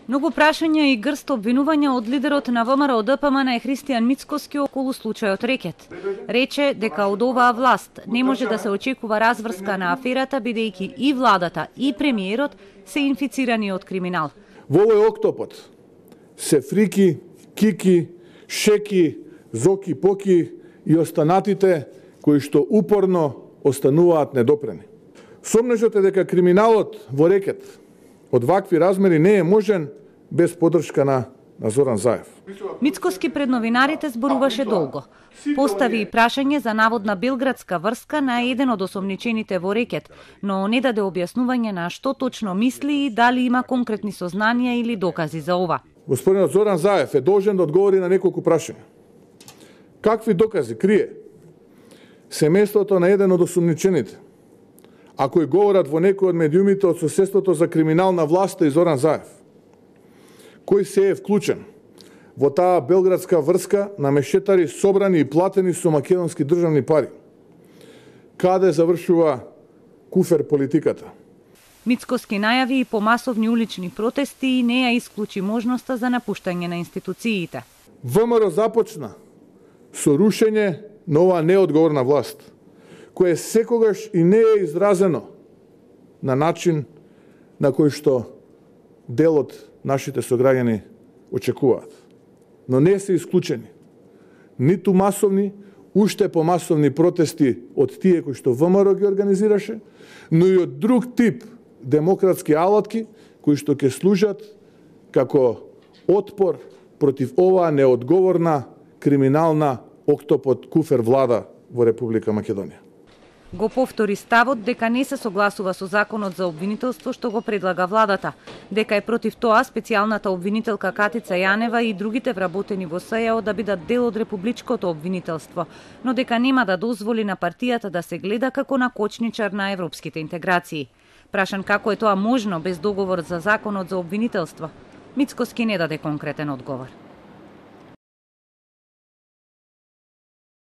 Многу прашања и грст обвинувања од лидерот на ВМРО ДПМН Христијан Мицкоски околу случајот Рекет. Рече дека од оваа власт не може да се очекува разврска на аферата, бидејќи и владата и премиерот се инфицирани од криминал. Во овој октопод се Фрики, Кики, Шеки, Зоки, Поки и останатите кои што упорно остануваат недопрени. Сомнежот е дека криминалот во Рекет од вакви размери не е можен без поддршка на Зоран Заев. Мицкоски пред новинарите зборуваше долго. Постави и прашање за наводна белградска врска на еден од осомничените во Рекет, но не даде објаснување на што точно мисли и дали има конкретни сознанија или докази за ова. Господинот Зоран Заев е должен да одговори на неколку прашања. Какви докази крие семејството на еден од осомничените, а кои говорат во некој од медиумите од соседството за криминална власта и Зоран Заев? Кој се е вклучен во таа белградска врска на мешетари собрани и платени со македонски државни пари? Каде завршува куфер политиката? Мицкоски најави и по масовни улични протести и не ја исклучи можноста за напуштање на институциите. ВМРО започна со рушење на оваа неодговорна власт, кое секогаш и не е изразено на начин на кој што дел од нашите сограѓани очекуваат. Но не се исклучени ниту масовни, уште помасовни протести од тие кои што ВМРО ги организираше, но и од друг тип демократски алатки кои што ќе служат како отпор против оваа неодговорна криминална октопод куфер влада во Република Македонија. Го повтори ставот дека не се согласува со законот за обвинителство што го предлага владата, дека е против тоа специјалната обвинителка Катица Јанева и другите вработени во СЈО да бидат дел од републичкото обвинителство, но дека нема да дозволи на партијата да се гледа како на кочничар на европските интеграции. Прашан како е тоа можно без договор за законот за обвинителство, Мицкоски не даде конкретен одговор.